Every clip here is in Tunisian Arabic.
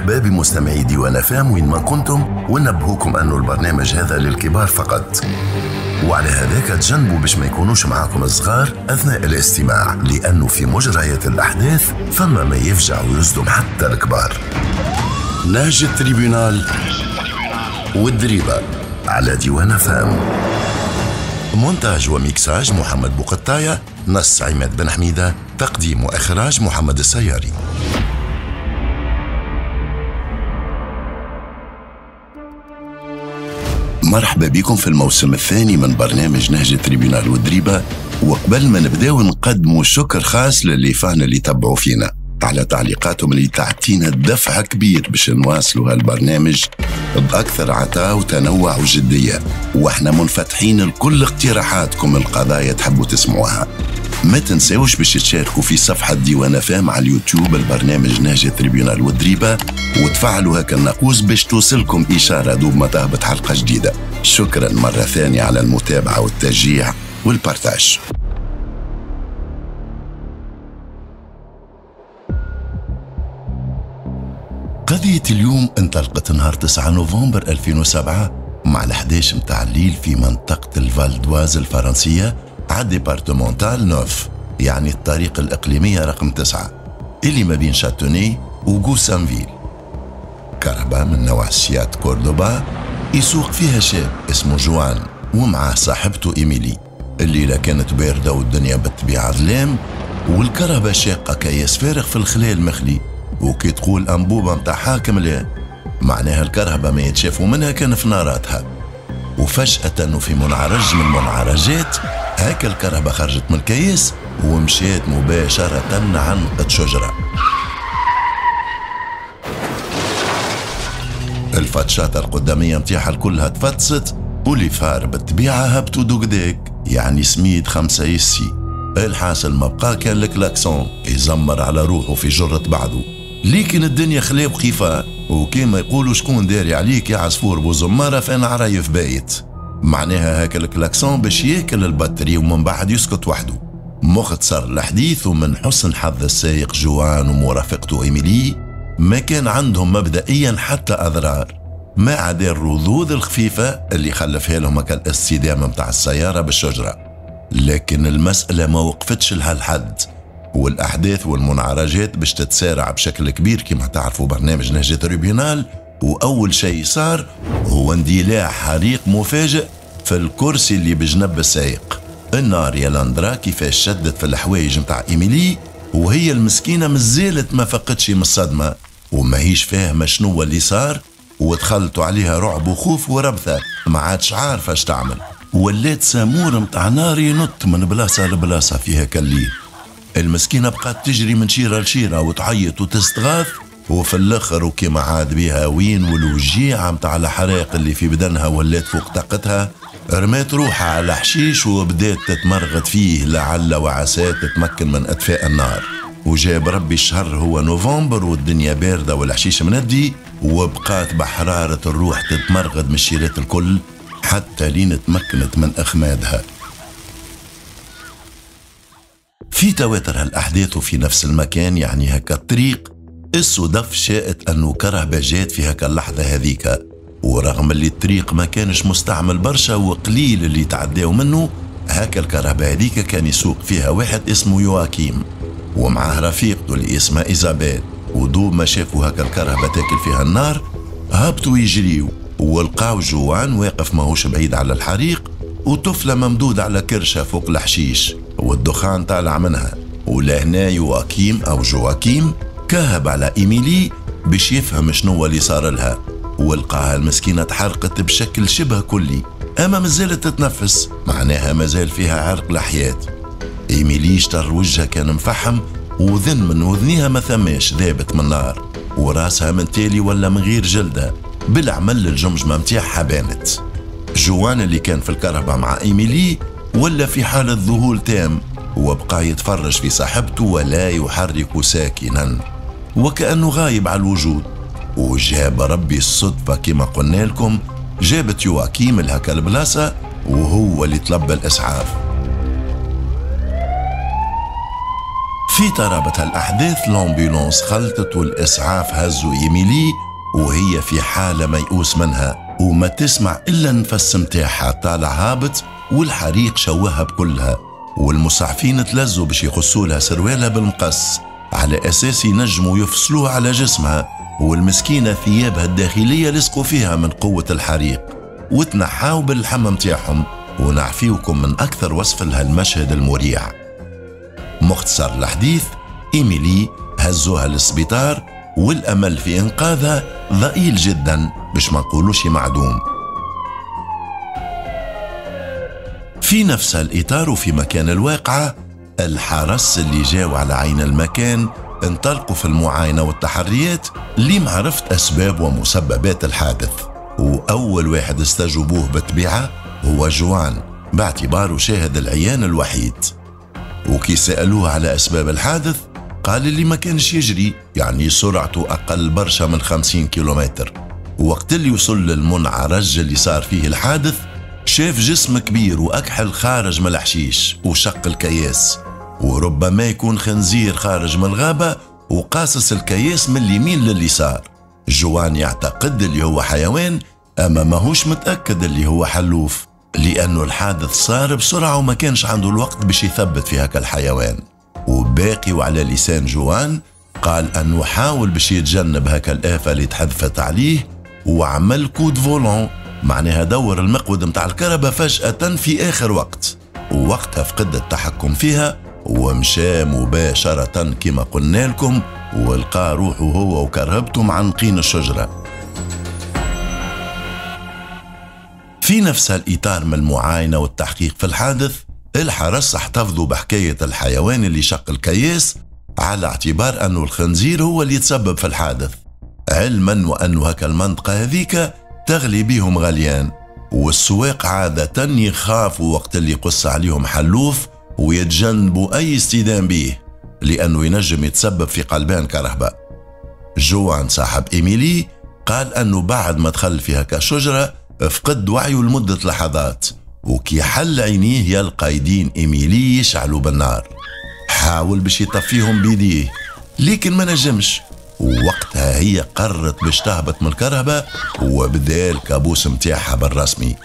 مرحبا بمستمعي ديوان FM وين ما كنتم، ونبهوكم أنه البرنامج هذا للكبار فقط، وعلى هذاك تجنبوا باش ما يكونوش معاكم الصغار أثناء الاستماع، لأنه في مجريات الأحداث فما ما يفجع ويصدم حتى الكبار. نهج ال tribunal والدريبة على ديوان FM. مونتاج وميكساج محمد بوقطاية، نص عماد بن حميدة، تقديم وإخراج محمد السياري. مرحبا بكم في الموسم الثاني من برنامج نهج ال tribunal والدريبة. وقبل ما نبداو نقدموا شكر خاص لل les fans اللي تبعوا فينا على تعليقاتهم اللي تعطينا دفع كبير باش نواصلوا هالبرنامج بأكثر عطاء وتنوع وجدية، واحنا منفتحين لكل اقتراحاتكم القضايا تحبوا تسمعوها. ما تنساوش باش تشاركوا في صفحة ديوان FM على اليوتيوب البرنامج نهج ال tribunal والدريبة، وتفعلوا هكا الناقوس باش توصلكم إشارة دوب ما تهبط حلقة جديدة. شكرا مرة ثانية على المتابعة والتشجيع وال partage. قضية اليوم انطلقت نهار 9 نوفمبر 2007 مع 11 متاع الليل في منطقة الفالدواز الفرنسية على départementale neuf، يعني الطريق الإقليمية رقم 9 اللي ما بين شاتوني وغوسانفيل. كرهبة من نوع سيات كوردوبا يسوق فيها شاب اسمه جوان ومعه صاحبته إيميلي. الليلة كانت باردة والدنيا بالطبيعة ظلام، والكرهبة شاقة كياس فارغ في الخلال المخلي، وكي تقول أنبوبة متاع حاكم لا معناها الكرهبة ما يتشافوا منها كان في ناراتها. وفجأة وفي منعرج من منعرجات هاك الكرهبة خرجت من الكياس ومشات مباشرة عنقت شجرة. الفتشات القدامية متاعها كلها تفتست، و les phares بالطبيعة هبطوا دوكداك، يعني سميد 5 يسي. الحاصل ما بقى كان الكلاكسون يزمر على روحه في جرة بعضه، لكن الدنيا خلا وخيفة، وكيما يقولوا شكون داري عليك يا عصفور بوزمارة فانا عرايف بايت. معناها هاك الكلاكسون باش ياكل ال batterie ومن بعد يسكت وحده. مختصر الحديث، ومن حسن حظ السائق جوان ومرافقته إيميلي ما كان عندهم مبدئيا حتى أضرار، ما عدا الرذوذ الخفيفة اللي خلفها لهم هاك الاصطدام متاع السيارة بالشجرة. لكن المسألة ما وقفتش لهالحد، والأحداث والمنعرجات باش تتسارع بشكل كبير كما تعرفوا برنامج نهج tribunal. وأول شيء صار هو اندلاع حريق مفاجئ في الكرسي اللي بجنب السائق. النار يا لاندرا كيفاش شدت في الحوايج متاع إيميلي، وهي المسكينة مازالت ما فقتش من الصدمة وماهيش فاهمة شنو اللي صار، ودخلتوا عليها رعب وخوف وربثة ما عادش عارفة اش تعمل. ولات سامور متاع نار ينط من بلاصة لبلاصة فيها كالليل. المسكينة بقات تجري من شيرة لشيرة وتعيط وتستغاث، وفي الاخر وكما عاد بيها وين والوجيعة متاع الحراق اللي في بدنها ولات فوق طاقتها، رمات روحها على حشيش وبدات تتمرغد فيه لعل وعسى تتمكن من اطفاء النار. وجاب ربي الشهر هو نوفمبر والدنيا باردة والحشيش مندي، وبقات بحرارة الروح تتمرغد من الشيرات الكل حتى لين تمكنت من أخمادها. في تواتر هالأحداث وفي نفس المكان، يعني هكا الطريق، الصدف شاءت أنه كرهبة جات في هكا اللحظة هذيك، ورغم اللي الطريق ما كانش مستعمل برشا وقليل اللي تعداو منه، هكا الكرهبة هذيك كان يسوق فيها واحد اسمه يواكيم ومعاه رفيقته اللي اسمها إيزابيل. ودوب ما شافوا هكا الكرهبة تاكل فيها النار هبطوا يجريوا، ولقاو جوان واقف ماهوش بعيد على الحريق، وطفلة ممدودة على كرشة فوق الحشيش والدخان طالع منها. ولهنا يواكيم أو جواكيم كهب على إيميلي باش يفهم شنو اللي صار لها، ولقاها المسكينة تحرقت بشكل شبه كلي، أما مازالت تتنفس، معناها مازال فيها عرق الحياة. إيميلي اشتر وجهها كان مفحم، وذن من وذنيها ما ثماش ذابت من النار، وراسها من تالي ولا من غير جلدة، بالعمل الجمجمة متاعها بانت. جوان اللي كان في الكرهبة مع إيميلي ولا في حالة ذهول تام، وبقى يتفرج في صاحبته ولا يحرك ساكنا وكأنه غايب على الوجود. وجاب ربي الصدفة كما قلنا لكم جابت يواكيم لهكا البلاصة وهو اللي طلب الإسعاف. في ترابط هالأحداث l'ambulance خلطت والإسعاف هزوا إيميلي وهي في حالة ميؤوس منها، وما تسمع إلا النفس متاعها طالع هابط، والحريق شوهها بكلها، والمسعفين تلزوا باش يقصوا لها سروالها بالمقص على أساس ينجموا يفصلوها على جسمها، والمسكينة ثيابها الداخلية لصقوا فيها من قوة الحريق وتنحاو باللحم متاعهم. ونعفيوكم من أكثر وصف لهالمشهد المريع. مختصر الحديث، إيميلي هزوها للسبيطار والأمل في إنقاذها ضئيل جدا باش ما نقولوش معدوم. في نفس الإطار وفي مكان الواقعة، الحرس اللي جاوا على عين المكان انطلقوا في المعاينة والتحريات لمعرفة أسباب ومسببات الحادث، وأول واحد استجوبوه بالطبيعة هو جوان باعتباره شاهد العيان الوحيد. وكي سألوه على أسباب الحادث قال اللي ما كانش يجري، يعني سرعته أقل برشا من 50 كيلومتر. وقت اللي وصل للمنعرج اللي صار فيه الحادث شاف جسم كبير وأكحل خارج من الحشيش وشق الكياس، وربما يكون خنزير خارج من الغابة وقاصص الكياس من اليمين لليسار. جوان يعتقد اللي هو حيوان، أما ماهوش متأكد اللي هو حلوف، لأنه الحادث صار بسرعة وما كانش عنده الوقت باش يثبت في هكا الحيوان. وباقي وعلى لسان جوان قال أنه حاول باش يتجنب هكا الآفة اللي تحذفت عليه وعمل coup de volant، معناها دور المقود متاع الكهرباء فجأة في آخر وقت، ووقتها فقد التحكم فيها ومشى مباشرة كما قلنا لكم، ولقى روحه هو وكرهبته معنقين الشجرة. في نفس الإطار من المعاينة والتحقيق في الحادث، الحرس احتفظوا بحكاية الحيوان اللي شق الكياس على اعتبار أنه الخنزير هو اللي تسبب في الحادث، علما وأنه هكا المنطقة هذيك تغلي بيهم غليان، والسواق عادة يخافوا وقت اللي يقص عليهم حلوف ويتجنبوا أي اصطدام به لأنه ينجم يتسبب في قلبان كهرباء. جوان صاحب إيميلي قال أنه بعد ما دخل في هكا شجرة فقد وعيه لمدة لحظات، وكي حل عينيه يلقى يدين إيميلي يشعلوا بالنار. حاول باش يطفيهم بيديه لكن ما نجمش، ووقتها هي قررت باش تهبط من الكرهبة وبدا الكابوس متاعها بالرسمي،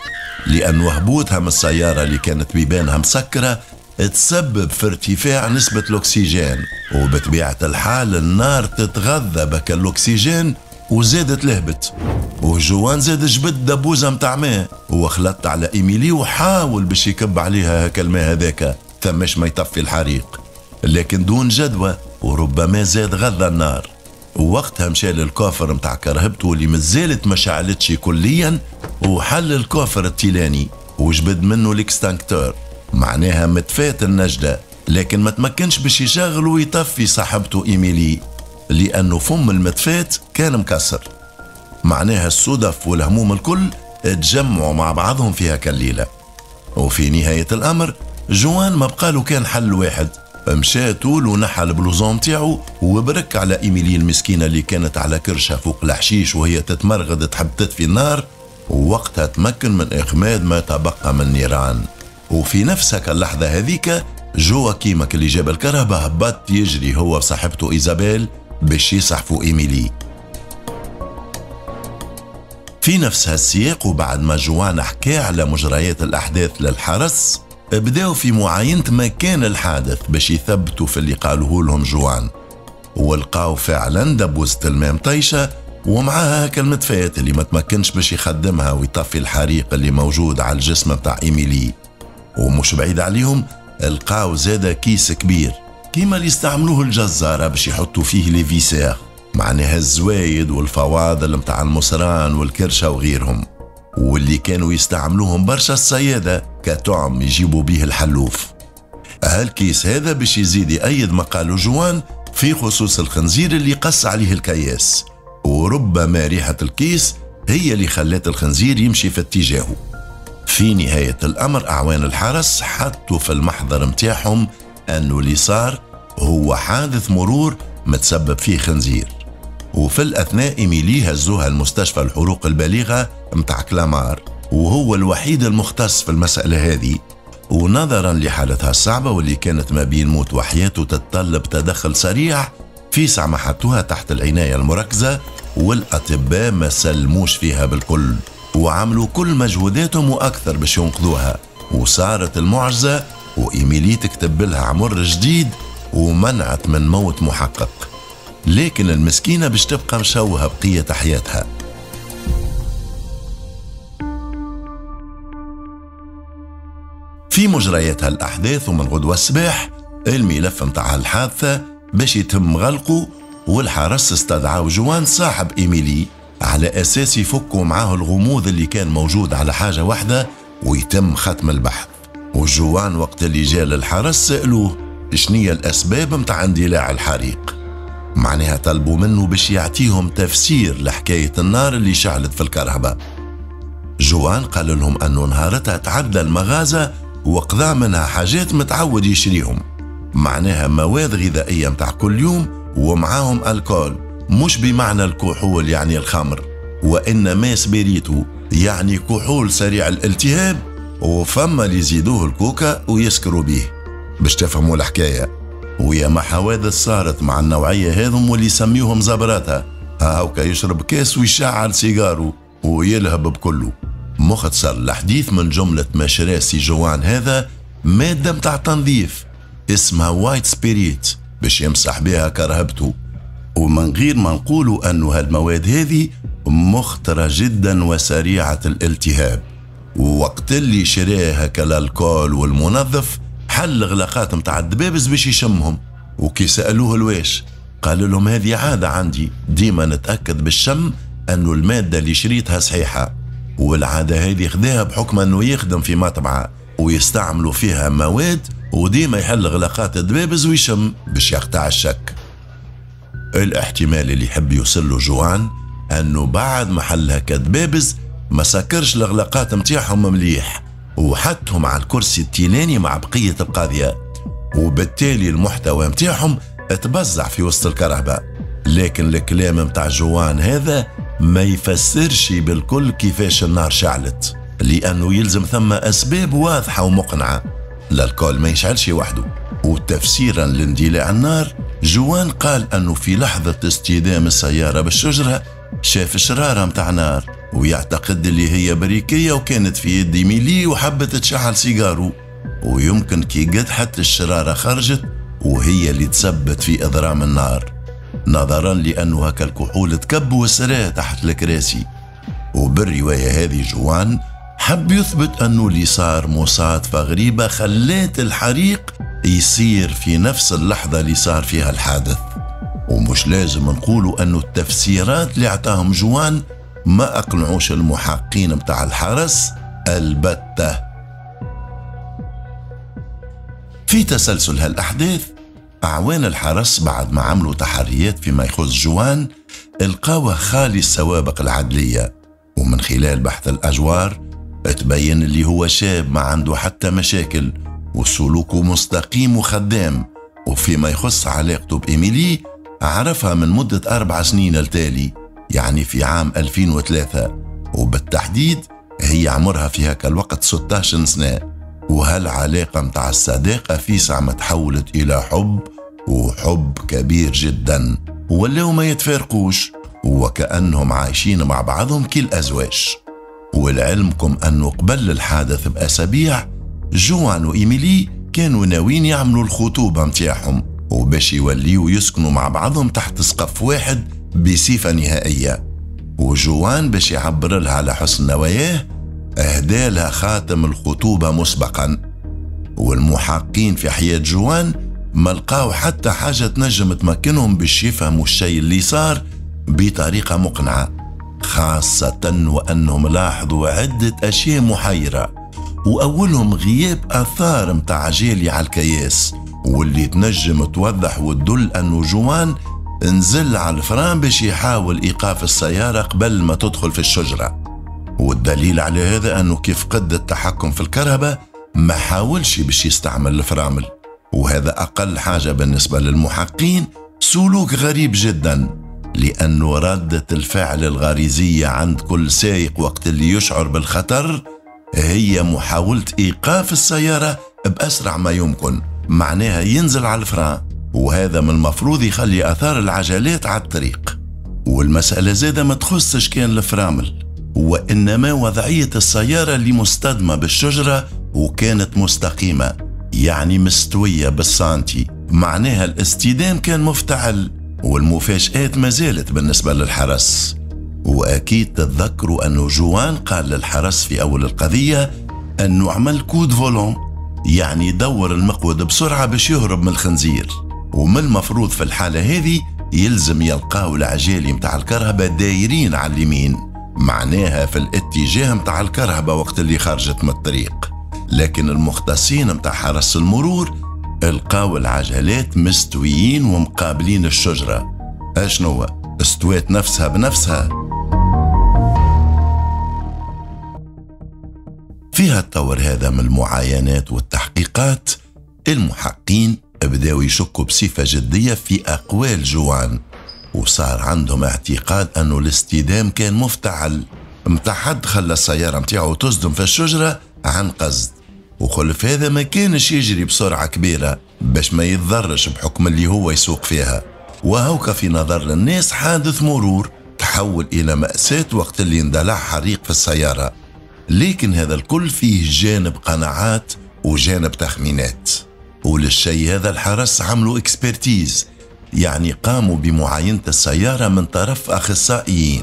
لأن هبوطها من السيارة اللي كانت بيبانها مسكرة تسبب في ارتفاع نسبة الأكسجين، وبطبيعة الحال النار تتغذى بك الأكسجين وزادت لهبت. وجوان زاد جبد دبوزة متاع ماء وخلطت على إيميلي وحاول باش يكب عليها هكا الماء هذاك ثماش ما يطفي الحريق، لكن دون جدوى، وربما زاد غذى النار. ووقتها مشى لل coffre متاع كرهبته اللي مازالت ما شعلتش كليا، وحل ال coffre التيلاني وجبد منه l'extincteur، معناها متفات النجدة، لكن ما تمكنش باش يشغل ويطفي صاحبته إيميلي لأنه فم المتفات كان مكسر. معناها الصدف والهموم الكل تجمعوا مع بعضهم في هكا الليلة. وفي نهاية الأمر جوان ما بقالو كان حل واحد، مشى طول ونحى ال blouson متاعو وبرك على إيميلي المسكينة اللي كانت على كرشها فوق الحشيش وهي تتمرغد تحب تطفي النار، ووقتها تمكن من إخماد ما تبقى من نيران. وفي نفس اللحظة هذيك جواكيمك اللي جاب الكرهبة هبط يجري هو وصاحبته إيزابيل باش يسحفوا إيميلي. في نفس هالسياق وبعد ما جوان حكى على مجريات الأحداث للحرس، بداوا في معاينة مكان الحادث باش يثبتوا في اللي قالوه لهم جوان، ولقاو فعلا دبوزة الماء مطيشة ومعاها هكا المدفات اللي ما تمكنش باش يخدمها ويطفي الحريق اللي موجود على الجسم بتاع إيميلي. ومش بعيد عليهم لقاو زادة كيس كبير كيما اللي يستعملوه الجزارة باش يحطوا فيه les viscères، معناها الزوايد والفواضل متاع المصران والكرشة وغيرهم، واللي كانوا يستعملوهم برشا الصيادة كطعم يجيبوا به الحلوف. هالكيس هذا باش يزيد يأيد ما قالوا جوان في خصوص الخنزير اللي قص عليه الكياس، وربما ريحة الكيس هي اللي خلت الخنزير يمشي في اتجاهه. في نهاية الأمر أعوان الحرس حطوا في المحضر متاعهم أنه اللي صار هو حادث مرور متسبب فيه خنزير. وفي الأثناء إيميلي هزوها المستشفى الحروق البليغة متاع كلامار، وهو الوحيد المختص في المسألة هذه، ونظرا لحالتها الصعبة واللي كانت ما بين موت وحياته تتطلب تدخل سريع، في ساعة ما حطوها تحت العناية المركزة، والأطباء ما سلموش فيها بالكل وعملوا كل مجهوداتهم وأكثر باش ينقذوها. وصارت المعجزة، وإيميلي تكتب لها عمر جديد ومنعت من موت محقق، لكن المسكينة باش تبقى مشوهة بقية حياتها. في مجريات هالأحداث ومن غدوة الصباح الملف متاع الحادثة باش يتم غلقه، والحرس استدعاو جوان صاحب إيميلي على أساس يفكوا معاه الغموض اللي كان موجود على حاجة واحدة ويتم ختم البحث. وجوان وقت اللي جاء للحرس سألوه شنية الأسباب متاع اندلاع الحريق، معناها طلبوا منه باش يعطيهم تفسير لحكاية النار اللي شعلت في الكهرباء. جوان قال لهم أنه نهارتها تعدى المغازة وقضى منها حاجات متعود يشريهم، معناها مواد غذائية متاع كل يوم ومعاهم alcool، مش بمعنى الكحول يعني الخمر، وإنما سبيريتو يعني كحول سريع الالتهاب، وفما اللي يزيدوه الكوكا ويسكروا به باش تفهموا الحكاية. ويا ما حوادث صارت مع النوعية هذم واللي يسميوهم زبراتها، هاوكا يشرب كاس ويشعل سيجارو ويلهب بكله. مختصر الحديث من جملة ما شرا سي جوان هذا مادة متاع تنظيف اسمها white spirit باش يمسح بها كرهبته، ومن غير ما نقولوا أنه هالمواد هذه مخطرة جدا وسريعة الالتهاب. ووقت اللي شراها كال alcool والمنظف حل غلاقات متاع الدبابز باش يشمهم، وكي سألوه الواش قال لهم هذه عادة عندي، ديما نتأكد بالشم أنه المادة اللي شريتها صحيحة. والعادة هذه خذاها بحكم أنه يخدم في مطبعة ويستعملوا فيها مواد، وديما يحل غلاقات الدبابز ويشم باش يقطع الشك. الاحتمال اللي يحب يوصل له جوان أنه بعد ما حلها كدبابز ما سكرش الغلاقات متاعهم مليح وحطهم على الكرسي التيلاني مع بقية القضية، وبالتالي المحتوى متاعهم تبزع في وسط الكهرباء. لكن الكلام متاع جوان هذا ما يفسرش بالكل كيفاش النار شعلت، لأنه يلزم ثم أسباب واضحة ومقنعة. l'alcool ما يشعلش وحده. وتفسيرا لاندلاع النار جوان قال أنه في لحظة اصطدام السيارة بالشجرة شاف شرارة متاع نار، ويعتقد اللي هي بريكية وكانت في يد إيميلي وحبت تشعل سيجارو، ويمكن كي قدحت الشرارة خرجت وهي اللي تسبت في إضرام النار، نظرا لأنه هكا الكحول تكب وسراه تحت الكراسي. وبالرواية هذه جوان حب يثبت أنه اللي صار مصادفة غريبة خلات الحريق يصير في نفس اللحظة اللي صار فيها الحادث. ومش لازم نقولوا أنه التفسيرات اللي اعطاهم جوان ما أقنعوش المحقين متاع الحرس البتة. في تسلسل هالأحداث أعوان الحرس بعد ما عملوا تحريات فيما يخص جوان القاوه خالي السوابق العدلية، ومن خلال بحث الأجوار تبين اللي هو شاب ما عنده حتى مشاكل وسلوكه مستقيم وخدام. وفيما يخص علاقته بإيميلي عرفها من مدة 4 سنين التالي، يعني في عام 2003، وبالتحديد هي عمرها في هكا الوقت 16 سنة. وهالعلاقة متاع الصداقة في ساعة ما تحولت إلى حب، وحب كبير جدا، ولاو ما يتفارقوش وكأنهم عايشين مع بعضهم كالأزواج. ولعلمكم أنه قبل الحادث بأسابيع جوان وإيميلي كانوا ناويين يعملوا الخطوبة متاعهم وباش يوليوا يسكنوا مع بعضهم تحت سقف واحد بصفة نهائية. وجوان باش يعبر لها على حسن نواياه أهدالها خاتم الخطوبة مسبقا. والمحقين في حياة جوان ما لقاو حتى حاجة تنجم تمكنهم باش يفهموا الشيء اللي صار بطريقة مقنعة، خاصة وأنهم لاحظوا عدة أشياء محيرة، وأولهم غياب آثار متاع جالي على الكياس واللي تنجم توضح وتدل أنه جوان نزل على ال frein باش يحاول إيقاف السيارة قبل ما تدخل في الشجرة. والدليل على هذا أنه كيف قد التحكم في الكهرباء ما حاولش باش يستعمل الفرامل، وهذا أقل حاجة بالنسبة للمحقين سلوك غريب جدا، لأنه ردة الفعل الغريزية عند كل سائق وقت اللي يشعر بالخطر هي محاولة إيقاف السيارة بأسرع ما يمكن، معناها ينزل على ال frein، وهذا من المفروض يخلي أثار العجلات على الطريق. والمسألة زادة ما تخصش كان الفرامل، وإنما وضعية السيارة اللي مصطدمة بالشجرة وكانت مستقيمة، يعني مستوية بالسانتي، معناها الاصطدام كان مفتعل، والمفاجآت ما زالت بالنسبة للحرس. وأكيد تتذكروا أنه جوان قال للحرس في أول القضية أنه عمل coup de volant، يعني دور المقود بسرعة باش يهرب من الخنزير، ومن المفروض في الحالة هذه يلزم يلقاو العجالي متاع الكرهبة دايرين على اليمين، معناها في الاتجاه متاع الكرهبة وقت اللي خرجت من الطريق. لكن المختصين متاع حرس المرور القاو العجلات مستويين ومقابلين الشجرة. اشنو استوات نفسها بنفسها؟ فيها التطور هذا من المعاينات والتحقيقات، المحقين بداوا يشكوا بصفة جدية في أقوال جوان، وصار عندهم اعتقاد أنه الاصطدام كان مفتعل، متاع حد خلى السيارة متاعه تصدم في الشجرة عن قصد، وخلف هذا ما كانش يجري بسرعة كبيرة باش ما يتضرش بحكم اللي هو يسوق فيها. وهوك في نظر الناس حادث مرور تحول إلى مأساة وقت اللي اندلع حريق في السيارة. لكن هذا الكل فيه جانب قناعات وجانب تخمينات، وللشيء هذا الحرس عملوا expertise، يعني قاموا بمعاينة السيارة من طرف أخصائيين.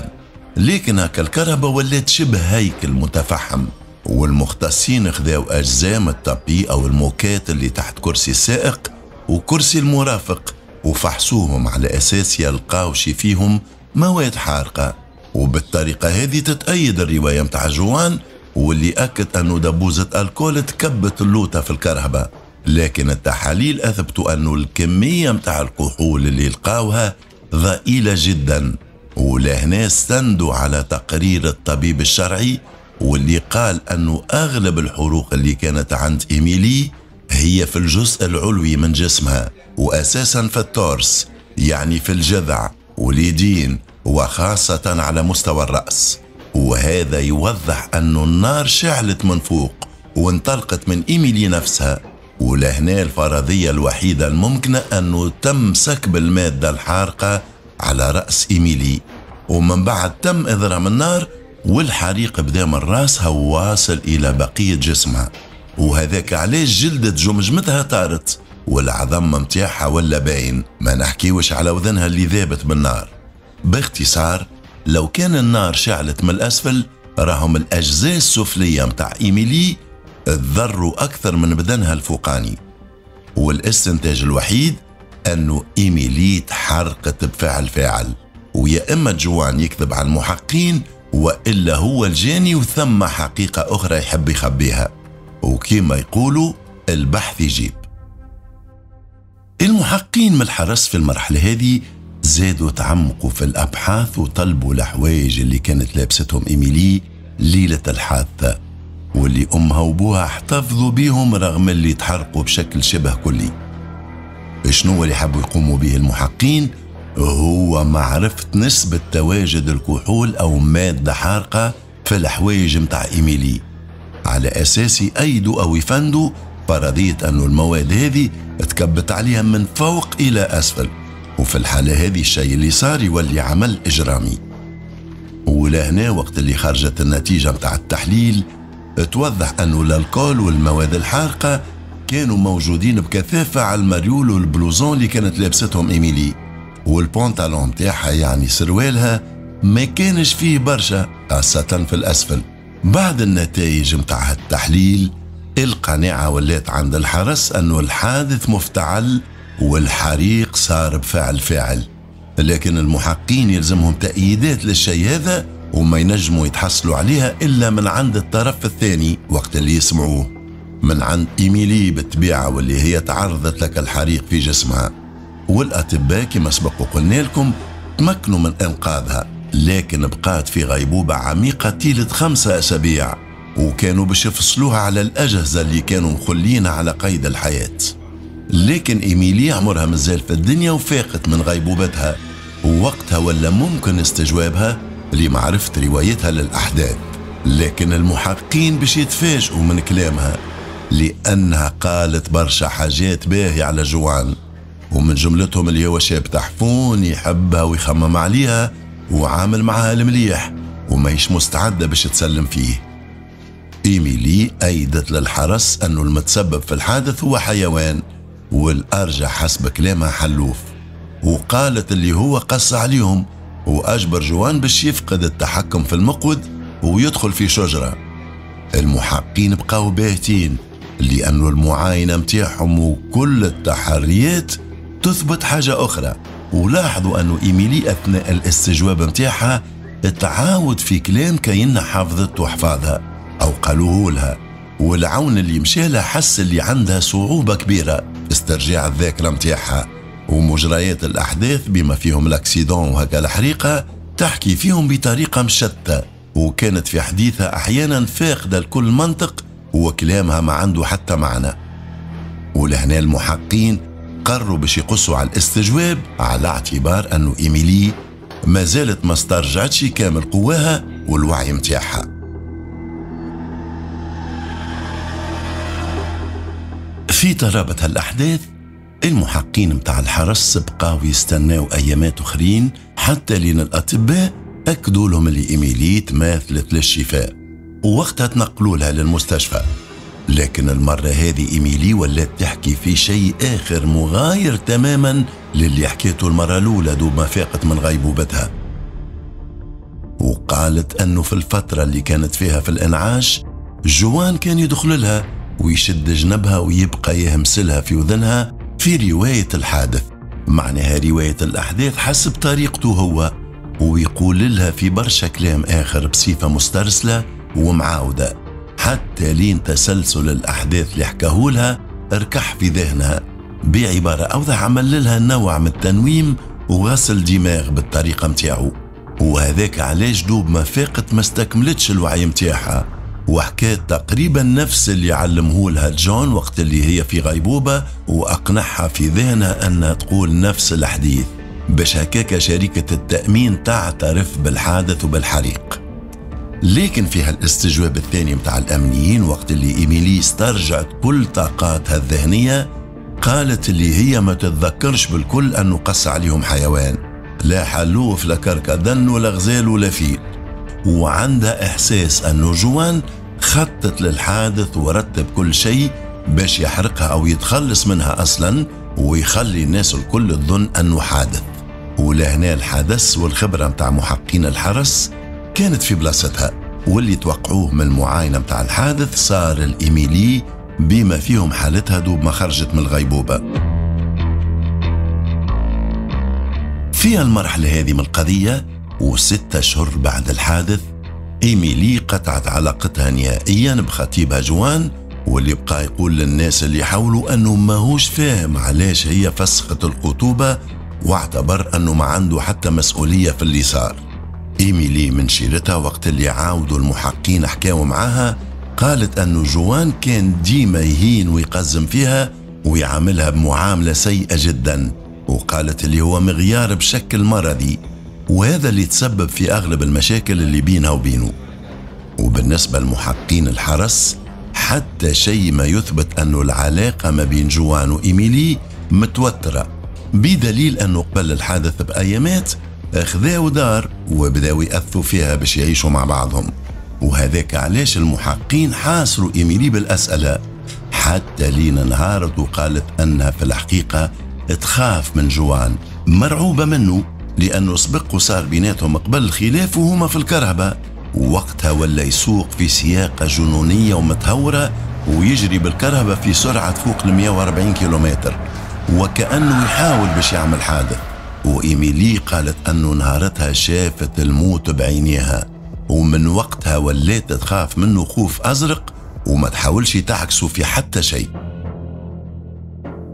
لكن هكا الكرهبة ولات شبه هيكل متفحم، والمختصين خذاو أجزاء من ال tapis أو الموكات اللي تحت كرسي السائق وكرسي المرافق وفحصوهم على أساس يلقاو شي فيهم مواد حارقة. وبالطريقة هذه تتأيد الرواية متاع جوان، واللي أكد أنه دبوزة alcool تكبت اللوطة في الكرهبة. لكن التحاليل أثبتوا أنه الكمية متاع الكحول اللي لقاوها ضئيلة جدا، ولهنا استندوا على تقرير الطبيب الشرعي واللي قال أنه أغلب الحروق اللي كانت عند إيميلي هي في الجزء العلوي من جسمها، وأساسا في ال torse، يعني في الجذع واليدين وخاصة على مستوى الرأس. وهذا يوضح أنه النار شعلت من فوق وانطلقت من إيميلي نفسها. ولهنا الفرضية الوحيدة الممكنة أنه تم سكب المادة الحارقة على رأس إيميلي، ومن بعد تم إضرام النار والحريق بدا من راسها وواصل إلى بقية جسمها، وهذاك علاش جلدة جمجمتها طارت والعظم متاعها ولا باين، ما نحكيوش على وذنها اللي ذابت بالنار. باختصار، لو كان النار شعلت من الأسفل راهم الأجزاء السفلية متاع إيميلي تضروا أكثر من بدنها الفوقاني. والاستنتاج الوحيد أنه إيميلي تحرقت بفعل فاعل، ويا إما جوان يكذب على المحقين وإلا هو الجاني وثم حقيقة أخرى يحب يخبيها، وكما يقولوا البحث يجيب. المحقين من الحرس في المرحلة هذه زادوا تعمقوا في الأبحاث وطلبوا الحوايج اللي كانت لابستهم إيميلي ليلة الحادثة، واللي أمها وبوها احتفظوا بيهم رغم اللي تحرقوا بشكل شبه كلي. شنو اللي حبوا يقوموا به المحقين؟ هو معرفة نسبة تواجد الكحول أو مادة حارقة في الحوايج متاع إيميلي، على أساس يأيدوا أو يفندوا فرضية أنه المواد هذه تكبت عليها من فوق إلى أسفل، وفي الحالة هذه الشيء اللي صار يولي عمل إجرامي. ولهنا وقت اللي خرجت النتيجة متاع التحليل توضح أنه ال alcool والمواد الحارقة كانوا موجودين بكثافة على المريول وال blouson اللي كانت لابستهم إيميلي، والبونتالون متاعها يعني سروالها ما كانش فيه برشا خاصة في الأسفل. بعد النتائج متاع التحليل القناعة ولات عند الحرس أنه الحادث مفتعل والحريق صار بفعل فاعل، لكن المحقين يلزمهم تأييدات للشيء هذا وما ينجموا يتحصلوا عليها إلا من عند الطرف الثاني وقت اللي يسمعوه، من عند إيميلي بالطبيعة واللي هي تعرضت لك الحريق في جسمها. والأطباء كما سبق وقلنا لكم تمكنوا من إنقاذها، لكن بقات في غيبوبة عميقة طيلة 5 أسابيع، وكانوا باش يفصلوها على الأجهزة اللي كانوا مخلينها على قيد الحياة. لكن إيميلي عمرها مازال في الدنيا وفاقت من غيبوبتها، ووقتها ولا ممكن استجوابها لمعرفة روايتها للأحداث. لكن المحققين باش يتفاجئوا من كلامها، لأنها قالت برشا حاجات باهية على جوان، ومن جملتهم اللي هو شاب تحفون يحبها ويخمم عليها وعامل معها المليح وماهيش مستعدة باش تسلم فيه. إيميلي أيدت للحرس أنه المتسبب في الحادث هو حيوان، والأرجح حسب كلامها حلوف، وقالت اللي هو قص عليهم وأجبر جوان باش يفقد التحكم في المقود ويدخل في شجرة. المحققين بقاو باهتين لأنه المعاينة متاعهم وكل التحريات تثبت حاجة أخرى، ولاحظوا أنه إيميلي أثناء الاستجواب متاعها تعاود في كلام كأنها حافظت وحفاظها أو قالوه لها، والعون اللي مشالها حس اللي عندها صعوبة كبيرة استرجاع الذاكرة متاعها، ومجريات الأحداث بما فيهم الاكسيدون وهكا الحريقة تحكي فيهم بطريقة مشتتة، وكانت في حديثها أحيانا فاقدة لكل منطق وكلامها ما عنده حتى معنى. ولهنا المحققين قرروا باش يقصوا على الاستجواب على اعتبار أنه إيميلي ما زالت ما استرجعتش كامل قواها والوعي متاعها. في ترابط هالأحداث المحققين متاع الحرس بقاو يستناو أيامات أخرين حتى لين الأطباء أكدوا لهم اللي إيميلي تماثلت للشفاء، ووقتها تنقلوا لها للمستشفى. لكن المرة هذه إيميلي ولات تحكي في شيء آخر مغاير تماما للي حكيته المرة الأولى دوب ما فاقت من غيبوبتها، وقالت أنه في الفترة اللي كانت فيها في الإنعاش جوان كان يدخل لها ويشد جنبها ويبقى يهمسلها في وذنها في رواية الحادث، معناها رواية الأحداث حسب طريقته هو، ويقول لها في برشا كلام آخر بصفة مسترسلة ومعاودة حتى لين تسلسل الأحداث اللي حكاهولها ركح في ذهنها. بعبارة أوضح عمل لها نوع من التنويم وغسل دماغ بالطريقة متاعو، وهذاك علاش دوب ما فاقت ما استكملتش الوعي متاعها وحكات تقريبا نفس اللي علمهولها جون وقت اللي هي في غيبوبة، وأقنعها في ذهنها أنها تقول نفس الحديث باش هكاك شركة التأمين تعترف بالحادث وبالحريق. لكن في هالاستجواب الثاني متاع الأمنيين وقت اللي إيميلي استرجعت كل طاقاتها الذهنية قالت اللي هي ما تتذكرش بالكل أنه قص عليهم حيوان، لا حلوف لا كركدن ولا غزال ولا فيل، وعندها إحساس أنه جوان خطط للحادث ورتب كل شيء باش يحرقها أو يتخلص منها أصلا ويخلي الناس الكل تظن أنه حادث. ولهنا الحدث والخبرة متاع محققين الحرس كانت في بلاصتها، واللي توقعوه من المعاينة متاع الحادث صار الإيميلي بما فيهم حالتها دوب ما خرجت من الغيبوبة. في المرحلة هذه من القضية و6 أشهر بعد الحادث إيميلي قطعت علاقتها نهائيا بخطيبها جوان، واللي بقى يقول للناس اللي حوله أنه ماهوش فاهم علاش هي فسخت الخطوبة، واعتبر أنه ما عنده حتى مسؤولية في اللي صار. إيميلي من شيرتها وقت اللي عاودوا المحققين حكاوا معاها قالت أنه جوان كان ديما يهين ويقزم فيها ويعاملها بمعاملة سيئة جدا، وقالت اللي هو مغيار بشكل مرضي، وهذا اللي تسبب في أغلب المشاكل اللي بينها وبينه. وبالنسبة لمحققين الحرس حتى شيء ما يثبت أنه العلاقة ما بين جوان وإيميلي متوترة، بدليل أنه قبل الحادث بأيامات أخذاو دار وبداو يأثوا فيها باش يعيشوا مع بعضهم، وهذاك علاش المحققين حاصروا إيميلي بالأسئلة حتى لين انهارت وقالت أنها في الحقيقة تخاف من جوان، مرعوبة منه لأنه سبق وصار بيناتهم قبل الخلاف وهما في الكرهبة، ووقتها ولا يسوق في سياقة جنونية ومتهورة ويجري بالكرهبة في سرعة فوق 140 كيلومتر وكأنه يحاول باش يعمل حادث. وإيميلي قالت أنه نهارتها شافت الموت بعينيها، ومن وقتها ولات تخاف منه خوف أزرق وما تحاولش تعكسه في حتى شيء.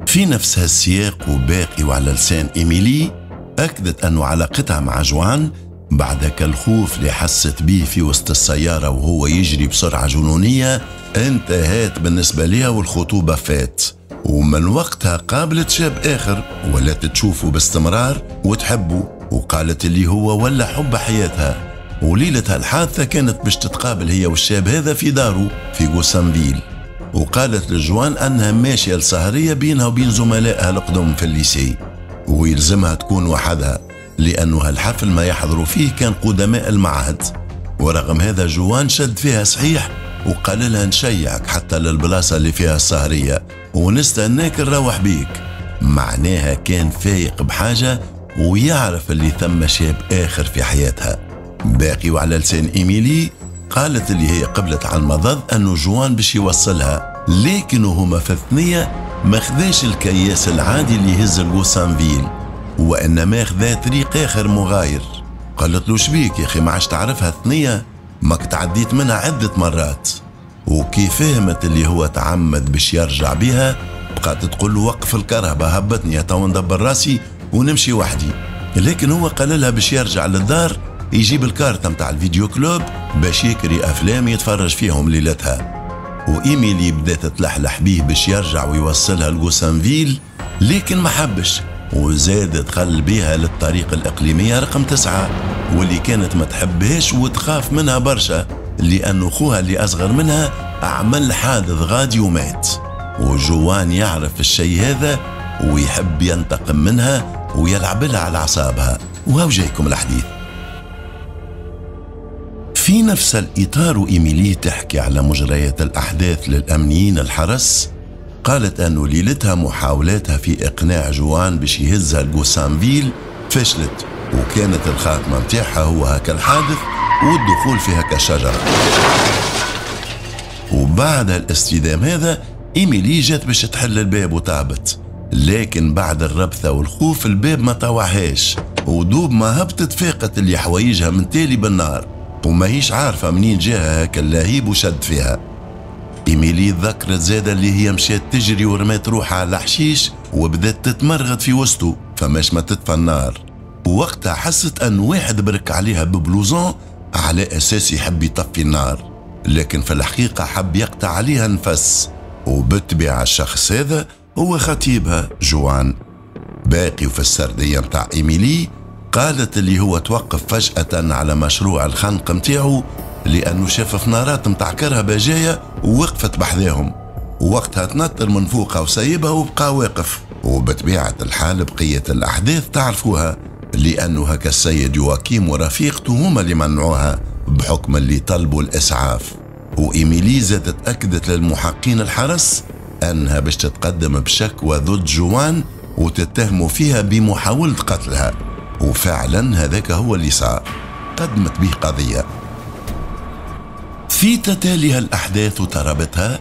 في نفس هالسياق وباقي وعلى لسان إيميلي أكدت أنه علاقتها مع جوان بعد الخوف اللي حست به في وسط السيارة وهو يجري بسرعة جنونية انتهت بالنسبة لها والخطوبة فات، ومن وقتها قابلت شاب آخر ولات تشوفه باستمرار وتحبه، وقالت اللي هو ولا حب حياتها. وليلة هالحادثة كانت باش تتقابل هي والشاب هذا في داره في غوسانفيل، وقالت لجوان أنها ماشية لسهرية بينها وبين زملائها القدم في ال lycée، ويلزمها تكون وحدها لأنه هالحفل ما يحضروا فيه كان قدماء المعهد. ورغم هذا جوان شد فيها صحيح وقال لها نشيعك حتى للبلاصة اللي فيها السهرية ونستناك نروح بيك. معناها كان فايق بحاجة ويعرف اللي ثم شاب آخر في حياتها. باقي وعلى لسان إيميلي قالت اللي هي قبلت على المضض أنه جوان باش يوصلها، لكن هما في الثنية ما خذاش الكياس العادي اللي يهز الغوسانفيل، وإنما خذا طريق آخر مغاير. قالت له شبيك يا أخي ما عادش تعرفها الثنية، ماك تعديت منها عدة مرات. وكي فهمت اللي هو تعمد باش يرجع بها بقات تقول له وقف الكرهبة هبطني تو ندبر راسي ونمشي وحدي، لكن هو قال لها باش يرجع للدار يجيب الكارتة متاع ال vidéo club باش يكري أفلام يتفرج فيهم ليلتها. وإيميلي بدأت تلحلح بيه باش يرجع ويوصلها لغوسانفيل، لكن ما حبش وزاد دخل بيها للطريق الإقليمية رقم 9 واللي كانت ما تحبهاش وتخاف منها برشا، لأنه خوها اللي أصغر منها عمل حادث غادي ومات، وجوان يعرف الشيء هذا ويحب ينتقم منها ويلعب لها على أعصابها. وهو جايكم الحديث في نفس الإطار. وإيميلي تحكي على مجريات الأحداث للأمنيين الحرس، قالت أنه ليلتها محاولاتها في إقناع جوان باش يهزها لغوسانفيل فشلت، وكانت الخاتمة متاعها هو هكا الحادث والدخول في هكا الشجرة. وبعد الاصطدام هذا إيميلي جات باش تحل الباب وتهبط، لكن بعد الربثة والخوف الباب ما طوعهاش، ودوب ما هبطت فاقت اللي حوايجها من تالي بالنار وما هيش عارفة منين جاها هكا اللهيب وشد فيها. إيميلي ذكرت زادة اللي هي مشات تجري ورمات روحها على الحشيش وبدت تتمرغد في وسطه فماش ما تطفى النار، ووقتها حست أن واحد برك عليها ب blouson على أساس يحب يطفي النار، لكن في الحقيقة حب يقطع عليها نفس، وبالطبيعة الشخص هذا هو خطيبها جوان. باقي وفي السردية متاع إيميلي قالت اللي هو توقف فجأة على مشروع الخنق متاعه لأنه شاف فنارات متاع كرهبة جاية ووقفت بحذاهم، ووقتها تنطر من فوقها وسيبها وبقى واقف. وبطبيعة الحال بقية الأحداث تعرفوها، لأنه هكا السيد يواكيم ورفيقته هما اللي منعوها بحكم اللي طلبوا الإسعاف. وإيميلي زادت أكدت للمحقين الحرس أنها باش تتقدم بشكوى ضد جوان وتتهموا فيها بمحاولة قتلها، وفعلا هذاك هو اللي صار، قدمت به قضية. في تتالي الأحداث وترابطها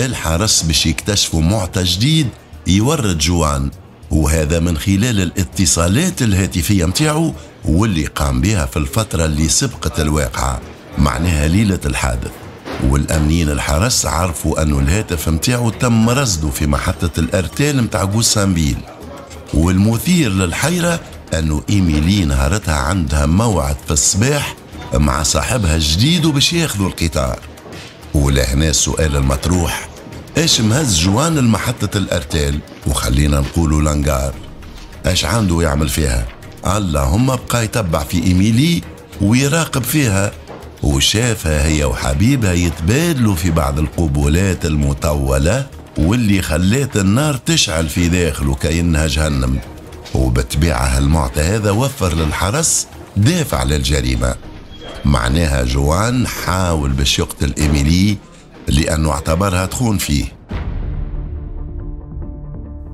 الحرس باش يكتشفوا معطى جديد يورد جوان، وهذا من خلال الاتصالات الهاتفية متاعه واللي قام بها في الفترة اللي سبقت الواقعة، معناها ليلة الحادث. والأمنيين الحرس عرفوا أنه الهاتف متاعه تم رصده في محطة الأرتال متاع غوسانفيل. والمثير للحيرة أنه إيميلي نهارتها عندها موعد في الصباح مع صاحبها الجديد وباش ياخذوا القطار. ولهنا السؤال المطروح، ايش مهز جوان لمحطة الأرتال وخلينا نقولوا لانجار؟ ايش عنده يعمل فيها؟ اللهم بقى يتبع في إيميلي ويراقب فيها، وشافها هي وحبيبها يتبادلوا في بعض القبولات المطولة واللي خلات النار تشعل في داخله كأنها جهنم. وبالطبيعة المعطى هذا وفر للحرس دافع للجريمة، معناها جوان حاول باش يقتل إيميلي لأنه اعتبرها تخون فيه.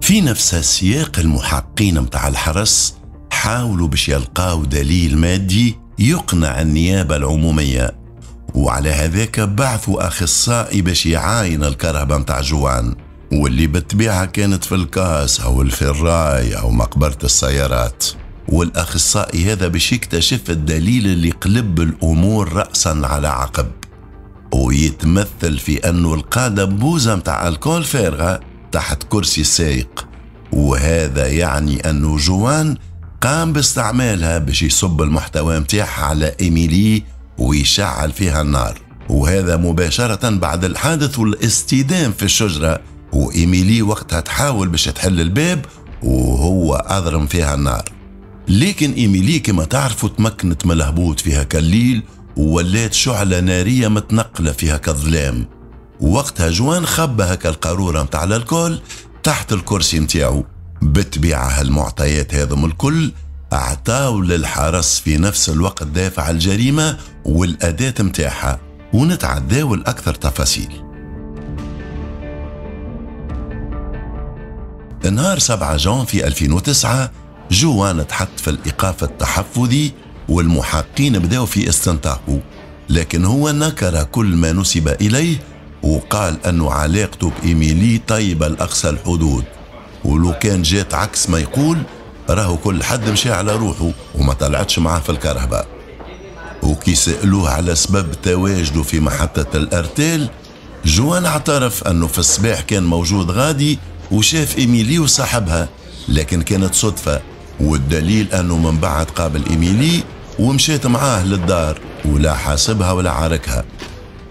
في نفس السياق المحقين متاع الحرس حاولوا باش يلقاو دليل مادي يقنع النيابة العمومية، وعلى هذاك بعثوا أخصائي باش يعاين الكرهبة متاع جوان، واللي بالطبيعة كانت في الكاس أو الفراي أو مقبرة السيارات. والأخصائي هذا باش يكتشف الدليل اللي قلب الأمور رأسا على عقب، ويتمثل في أنه لقى دبوزة متاع الكول فارغة تحت كرسي السايق، وهذا يعني أنه جوان قام باستعمالها باش يصب المحتوى متاعها على إيميلي ويشعل فيها النار، وهذا مباشرة بعد الحادث والاصطدام في الشجرة. وإيميلي وقتها تحاول باش تحل الباب وهو أضرم فيها النار. لكن إيميلي كما تعرفوا تمكنت من الهبوط في هكا الليل وولات شعلة نارية متنقلة في هكا الظلام. وقتها جوان خبى هكا القارورة متاع ال alcool تحت الكرسي متاعو. بالطبيعة هالمعطيات هذم الكل اعطاو للحرس في نفس الوقت دافع الجريمة والأداة متاعها، ونتعداو الأكثر تفاصيل. نهار 7 جانفي 2009 جوان تحط في الإيقاف التحفظي والمحقين بداوا في استنطاقه، لكن هو نكر كل ما نسب إليه وقال أنه علاقته بإيميلي طيبة لأقصى الحدود، ولو كان جات عكس ما يقول راهو كل حد مشى على روحه وما طلعتش معاه في الكهرباء. وكي سألوه على سبب تواجده في محطة الأرتيل، جوان اعترف أنه في الصباح كان موجود غادي وشاف إيميلي وصاحبها، لكن كانت صدفة، والدليل أنه من بعد قابل إيميلي ومشيت معاه للدار ولا حاسبها ولا عاركها.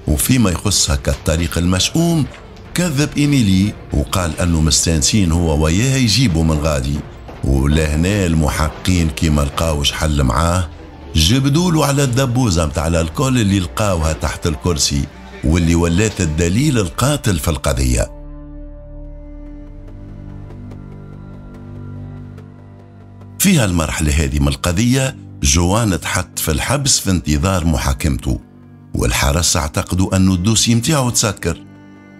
وفيما يخصها كالطريق المشؤوم، كذب إيميلي وقال أنه مستانسين هو وياها يجيبوا من غادي. ولهنا المحقين كيما لقاوش حل معاه جبدولوا على الدبوزة متاع ال alcool اللي لقاوها تحت الكرسي واللي ولات الدليل القاتل في القضية. في هالمرحلة هذه من القضية جوان تحط في الحبس في انتظار محاكمته، والحرس اعتقدوا أنه ال dossier متاعه تسكر،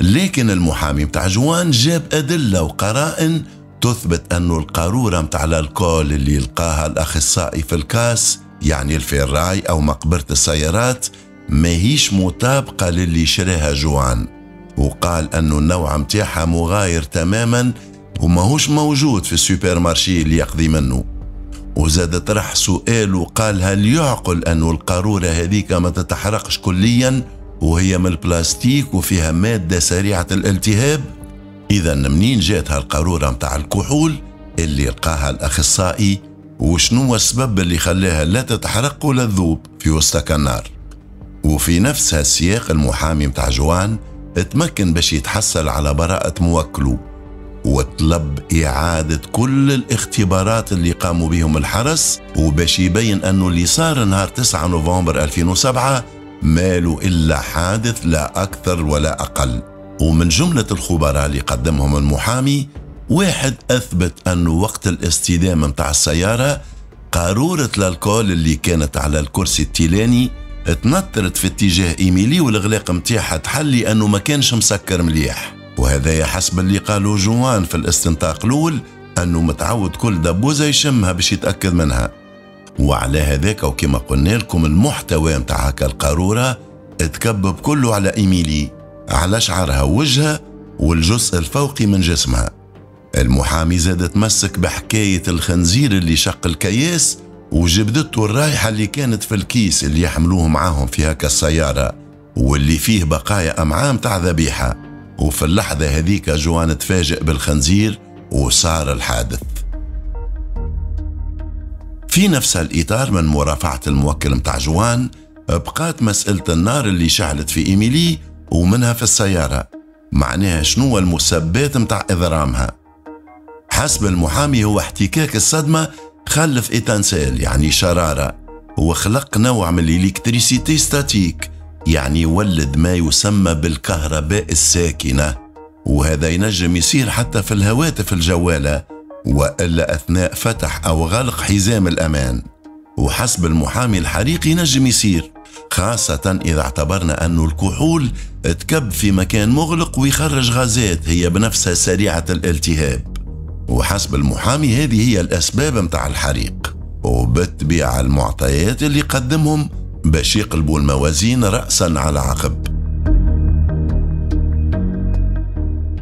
لكن المحامي متاع جوان جاب أدلة وقرائن تثبت أنه القارورة متاع ال alcool اللي لقاها الأخصائي في ال casse، يعني ال ferraille أو مقبرة السيارات، ماهيش مطابقة للي شراها جوان، وقال أنه النوع متاعها مغاير تماما وماهوش موجود في ال supermarché اللي يقضي منه. وزاد طرح سؤال وقال هل يعقل أنه القارورة هذيك ما تتحرقش كليا وهي من البلاستيك وفيها مادة سريعة الالتهاب؟ إذا منين جات هالقارورة متاع الكحول اللي لقاها الأخصائي، وشنو السبب اللي خلاها لا تتحرق ولا تذوب في وسط النار؟ وفي نفس هالسياق المحامي متاع جوان تمكن باش يتحصل على براءة موكله، وطلب إعادة كل الاختبارات اللي قاموا بهم الحرس، وباش يبين أنه اللي صار نهار 9 نوفمبر 2007 ماله إلا حادث لا أكثر ولا أقل. ومن جملة الخبراء اللي قدمهم المحامي واحد أثبت أنه وقت الاصطدام متاع السيارة قارورة ال alcool اللي كانت على الكرسي التيلاني تنطرت في اتجاه إيميلي والإغلاق متاعها تحل لأنه ما كانش مسكر مليح. وهذا حسب اللي قالوا جوان في الاستنطاق الأول أنه متعود كل دبوزة يشمها باش يتأكد منها. وعلى هذاك وكما قلنا لكم المحتوى متاع هكا القارورة تكبب كله على إيميلي، على شعرها ووجهها والجزء الفوقي من جسمها. المحامي زاد تمسك بحكاية الخنزير اللي شق الكياس وجبدته الرايحة اللي كانت في الكيس اللي يحملوه معاهم في هكا السيارة واللي فيه بقايا أمعام تاع ذبيحة. وفي اللحظة هذيك جوان تفاجئ بالخنزير وصار الحادث. في نفس الإطار من مرافعة الموكل متاع جوان بقات مسألة النار اللي شعلت في إيميلي ومنها في السيارة، معناها شنو المسبات متاع إضرامها. حسب المحامي هو احتكاك الصدمة خلف étincelle يعني شرارة، وخلق نوع من ال électricité statique يعني ولد ما يسمى بالكهرباء الساكنة، وهذا ينجم يصير حتى في الهواتف الجوالة وإلا أثناء فتح أو غلق حزام الأمان. وحسب المحامي الحريق ينجم يصير خاصة إذا اعتبرنا أن الكحول تكب في مكان مغلق ويخرج غازات هي بنفسها سريعة الالتهاب. وحسب المحامي هذه هي الأسباب متاع الحريق، وبالطبيعة المعطيات اللي قدمهم باش يقلبوا الموازين رأسا على عقب.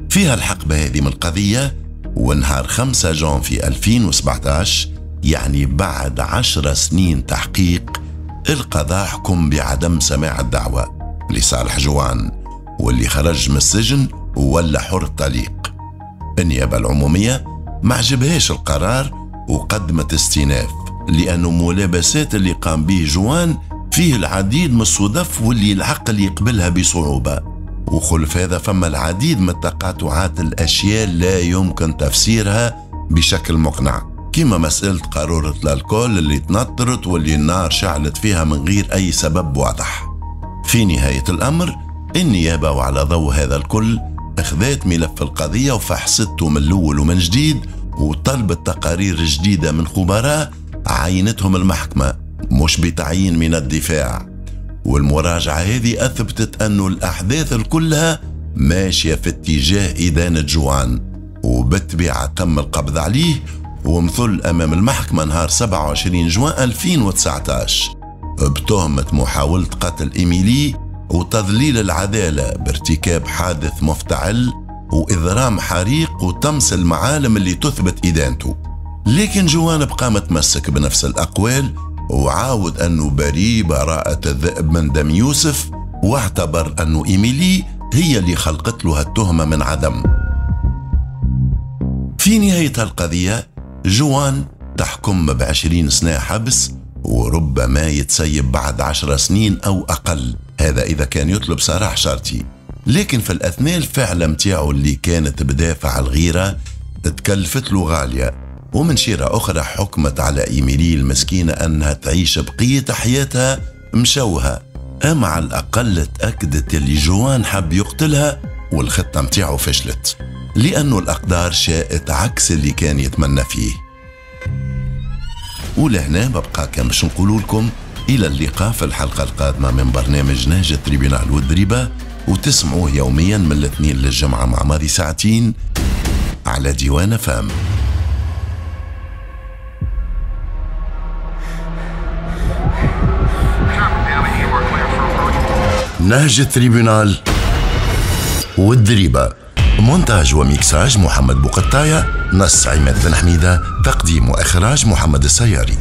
فيها الحقبة هذه من القضية ونهار 5 جانفي 2017 يعني بعد 10 سنين تحقيق، القضاء حكم بعدم سماع الدعوة لصالح جوان واللي خرج من السجن ولا حر طليق. النيابة العمومية ما عجبهاش القرار وقدمت استئناف، لأنه ملابسات اللي قام به جوان فيه العديد من الصدف واللي العقل يقبلها بصعوبة، وخلف هذا فما العديد من التقاطعات الأشياء لا يمكن تفسيرها بشكل مقنع، كما مسألة قارورة ال alcool اللي تنطرت واللي النار شعلت فيها من غير أي سبب واضح. في نهاية الأمر النيابة وعلى ضوء هذا الكل أخذت ملف القضية وفحصته من الأول ومن جديد، وطلبت تقارير جديدة من خبراء عينتهم المحكمة مش بتعيين من الدفاع. والمراجعة هذه أثبتت أنه الأحداث كلها ماشية في اتجاه إدانة جوان، وبالطبيعة تم القبض عليه ومثل أمام المحكمة نهار 27 جوان 2019 بتهمة محاولة قتل إيميلي وتضليل العدالة بارتكاب حادث مفتعل وإضرام حريق وطمس المعالم اللي تثبت إدانته. لكن جوان بقى متمسك بنفس الأقوال وعاود أنه بريء براءة الذئب من دم يوسف، واعتبر أنه إيميلي هي اللي خلقت له التهمة من عدم. في نهاية القضية جوان تحكم ب20 سنة حبس، وربما يتسيب بعد 10 سنين أو أقل، هذا إذا كان يطلب سراح شرطي. لكن في الأثناء الفعلة متاعه اللي كانت بدافع الغيرة تكلفت له غالية، ومن شيرة أخرى حكمت على إيميلي المسكينة أنها تعيش بقية حياتها مشوهة، أما على الأقل تأكدت اللي جوان حب يقتلها والخطة متاعه فشلت، لأنه الأقدار شاءت عكس اللي كان يتمنى فيه. ولهنا ببقى كان باش نقول لكم إلى اللقاء في الحلقة القادمة من برنامج نهج ال tribunal والدريبة، وتسمعوه يوميا من الاثنين للجمعة مع ماضي ساعتين على ديوان فام. نهج ال tribunal والدريبة، مونتاج وميكساج محمد بوقطاية، نص عماد بن حميدة، تقديم وإخراج محمد السياري.